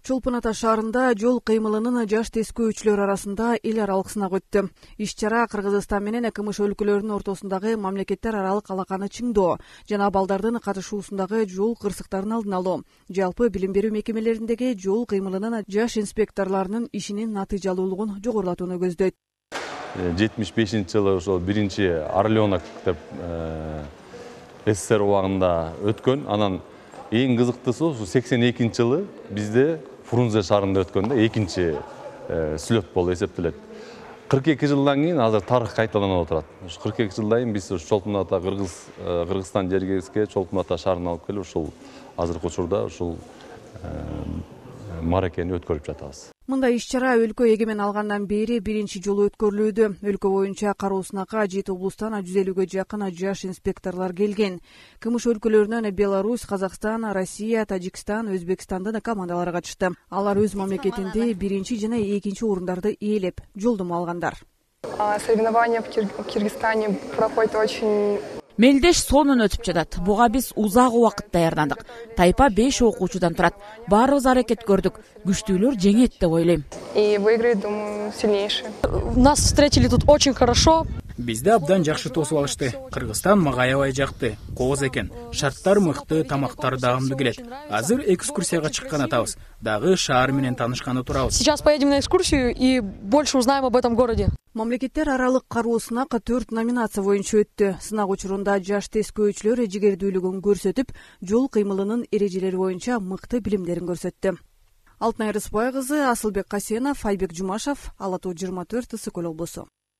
Чолпон Ата шаарында жол кыймылынын жаш тескөөчүлөр арасында эл аралык сынак өттү. Иш-чара Кыргызстан менен КМШ өлкөлөрүнүн ортосундагы мамлекеттер аралык алаканы чыңдоо жана балдардын катышуусундагы жол кырсыктарын алдын алуу, жалпы билим берүү мекемелериндеги жол кыймылынын жаш инспекторлорунун ишинин натыйжалуулугун жогорулатууну көздөйт. 75-жылы ошол биринчи Орленок деп СССР убагында өткөн. Анан эң кызыктуусу 82-жылы бизде Фрунзе шаарында өткөндө экинчи слет болуп эсептелет. 42 жылдан кийин азыр тарых кайталанып отурат. 42 жылдан кийин биз Чолпон Ата Кыргызстан жергеске Чолпон Ата шаарына алып келип ушул азыркы учурда ушул мааракени өткөрүп жатабыз. Мындай иш-чара өлкө эгемен алгандан бери биринчи жолу өткөрүлүүдө. Өлкө боюнча кароо сынакка 7 облустан 150-ге жакын жаш инспекторлор келген. КМШ өлкөлөрүнөн Беларусь, Казакстан, Россия, Тажикстан, Өзбекстандын командалары катышты. Алар өз мамлекетинде биринчи жана экинчи орундарды ээлеп, жолдомо алгандар. Соревнования в Киргизстане проходят очень... Мелдеш сонун өтүп жатат. Буга биз узак убакыт даярдандык. Тайпа 5 окуучудан турат. Баарыбыз аракет көрдүк. Күчтүүлөр жеңет деп ойлойм. И выиграет, думаю, сильнейший. Нас встретили тут очень хорошо. Бизди абдан жакшы тосуп алышты. Кыргызстан мага аябай жакты. Кооз экен. Шарттар мыкты, тамактар дагымдуу келет. Азыр экскурсияга чыккан атабыз. Дагы шаар менен таанышканы турабыз. Сейчас поедем на экскурсию и больше узнаем об этом городе. Мамлекеттер аралык кароо сынак 4 номинация боюнча өттү. Сынак учурунда жаш тескөөчүлөр жигердүүлүгүн көрсөтүп, жол кыймылынын эрежелери боюнча мыкты билимдерин көрсөттү. Алтынай Рыспай кызы, Асылбек Касенов, Айбек Жумашев, Ала Тоо 24, Ысык Көл облусу.